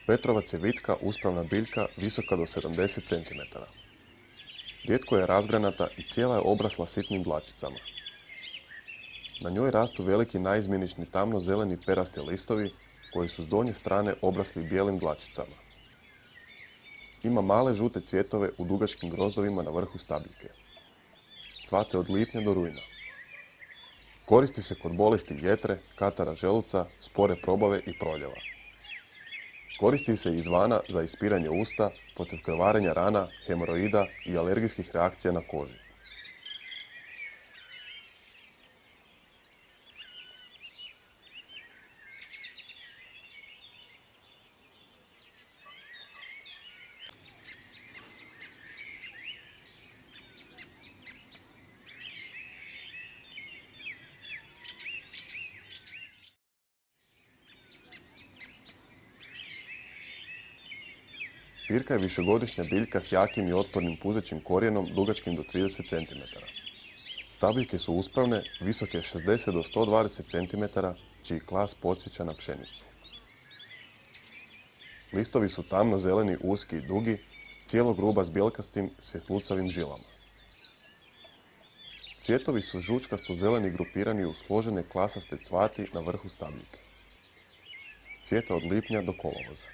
Petrovac je vitka, uspravna biljka visoka do 70 cm. Rijetko je razgranata i cijela je obrasla sitnim dlačicama. Na njoj rastu veliki naizmjenični tamno-zeleni perasti listovi koji su s donje strane obrasli bijelim dlačicama. Ima male žute cvjetove u dugačkim grozdovima na vrhu stabiljke. Cvate od lipnja do rujna. Koristi se kod bolesti jetre, katara želuca, spore probave i proljeva. Koristi se izvana za ispiranje usta, protiv krvarenja rana, hemoroida i alergijskih reakcija na koži. Pirka je višegodišnja biljka s jakim i otpornim puzećim korijenom dugačkim do 30 cm. Stabiljke su uspravne, visoke 60 do 120 cm, čiji klas podsjeća na pšenicu. Listovi su tamno-zeleni, uski i dugi, cijelo gruba s bjelkastim, svjetlucavim žilama. Cvjetovi su žučkasto-zeleni grupirani u složene klasaste cvati na vrhu stabiljke. Cvjeta od lipnja do kolovoza.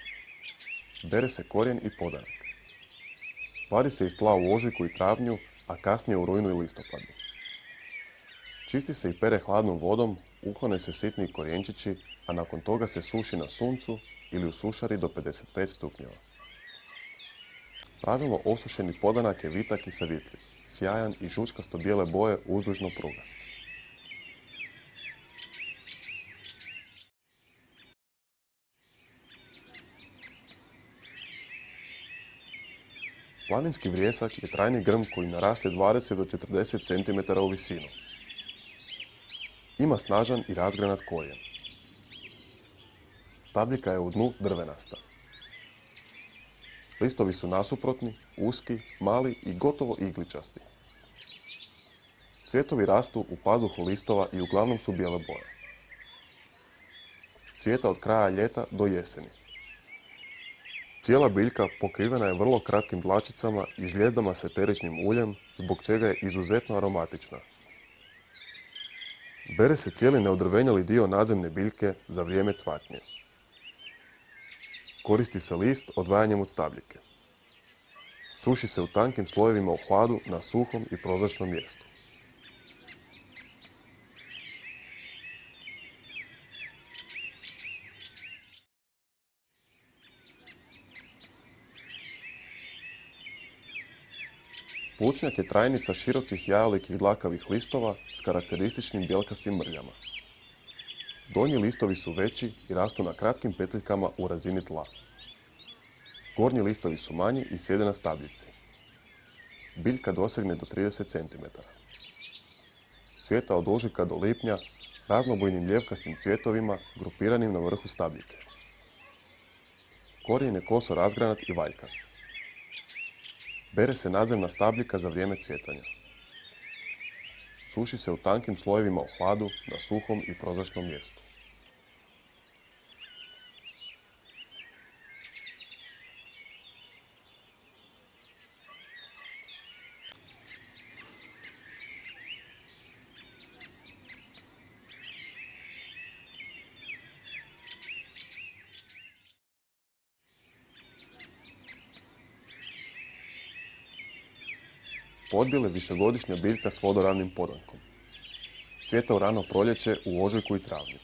Bere se korijen i podanak. Vadi se iz tla u ožujku i travnju, a kasnije u rujnu i listopadu. Čisti se i pere hladnom vodom, uklone se sitni korijenčići, a nakon toga se suši na suncu ili u sušari do 55 stupnjeva. Pravilno osušeni podanak je vitak i savjetljiv, sjajan i žučkasto bijele boje uzdužno prugast. Planinski vrijesak je trajni grm koji naraste 20 do 40 cm u visinu. Ima snažan i razgranat korijen. Stabljika je u dnu drvenasta. Listovi su nasuprotni, uski, mali i gotovo igličasti. Cvjetovi rastu u pazuhu listova i uglavnom su bijele boje. Cvjeta od kraja ljeta do jeseni. Cijela biljka pokrivena je vrlo kratkim dlačicama i žljezdama s eteričnim uljem, zbog čega je izuzetno aromatična. Bere se cijeli neodrvenjali dio nadzemne biljke za vrijeme cvatnje. Koristi se list odvajanjem od stabljike. Suši se u tankim slojevima u hladu na suhom i prozračnom mjestu. Plućnjak je trajnica širokih jajolikih dlakavih listova s karakterističnim bjelkastim mrljama. Donji listovi su veći i rastu na kratkim petljikama u razini tla. Gornji listovi su manji i sjede na stabljici. Biljka dosegne do 30 cm. Cvjeta od ožujka do lipnja raznobojnim ljevkastim cvjetovima grupiranim na vrhu stabljike. Korijen je koso razgranat i valjkast. Bere se nadzemna stabljika za vrijeme cvjetanja. Suši se u tankim slojevima u hladu na suhom i prozračnom mjestu. Podbijel je višegodišnja biljka s vodoravnim podankom. Cvjeta u rano proljeće u ožujku i travnju.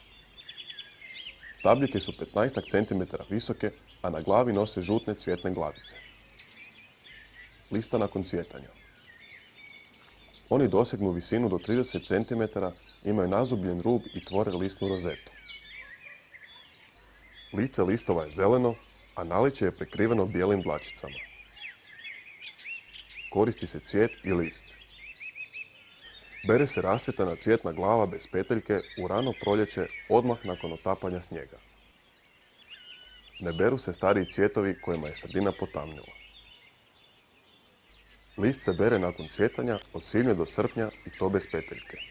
Stabljike su 15 cm visoke, a na glavi nose žutne cvjetne glavice. Lista nakon cvjetanja. Oni dosegnu visinu do 30 cm, imaju nazubljen rub i tvore listnu rozetu. Lice listova je zeleno, a naličje je prekriveno bijelim dlačicama. Koristi se cvijet i list. Bere se rasvjetana cvjetna glava bez peteljke u rano proljeće odmah nakon otapanja snijega. Ne beru se stariji cvjetovi kojima je sredina potamnila. List se bere nakon cvjetanja od svibnja do srpnja i to bez peteljke.